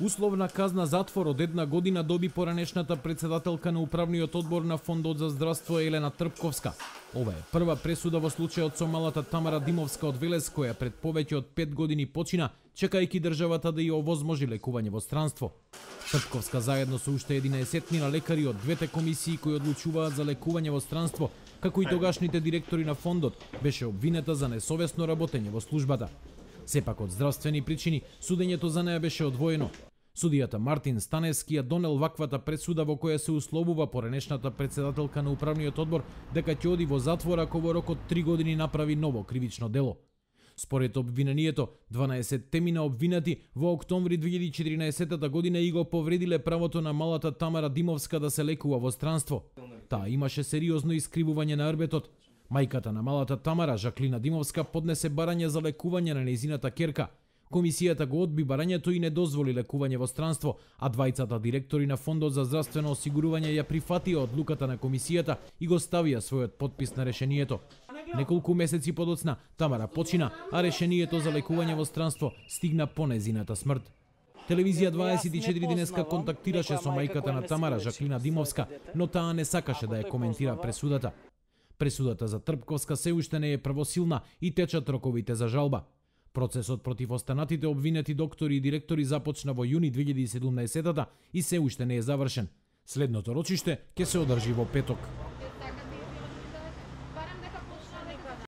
Условна казна затвор од 1 година доби поранешната председателка на управниот одбор на Фондот за здравство Елена Трпковска. Ова е прва пресуда во случајот со малата Тамара Димовска од Велес, која пред повеќе од 5 години почина, чекајќи државата да ја овозможи лекување во странство. Трпковска заедно со уште 11 лекари од двете комисии кои одлучуваат за лекување во странство, како и тогашните директори на фондот, беше обвинета за несовесно работење во службата. Сепак од здравствени причини, судењето за неа беше одвоено. Судијата Мартин Станевски ја донел ваквата пресуда во која се условува поранешната председателка на управниот одбор дека ќе оди во затвор ако во рок од 3 години направи ново кривично дело. Според обвинението, 12 темина обвинати во октомври 2014 година и го повредиле правото на малата Тамара Димовска да се лекува во странство. Таа имаше сериозно искривување на рбетот. Мајката на малата Тамара, Жаклина Димовска, поднесе барање за лекување на нејзината ќерка. Комисијата го одби барањето и не дозволи лекување во странство, а двајцата директори на Фондот за здравствено осигурување ја прифатија одлуката на комисијата и го ставија својот подпис на решението. Неколку месеци подоцна Тамара почина, а решението за лекување во странство стигна по нејзината смрт. Телевизија 24 денеска контактираше со мајката на Тамара, Жаклина Димовска, но таа не сакаше да ја коментира пресудата. Пресудата за Трпковска се уште не е правосилна и течат роковите за жалба. Процесот против останатите обвинети доктори и директори започна во јуни 2017 и се уште не е завршен. Следното рочиште ќе се одржи во петок.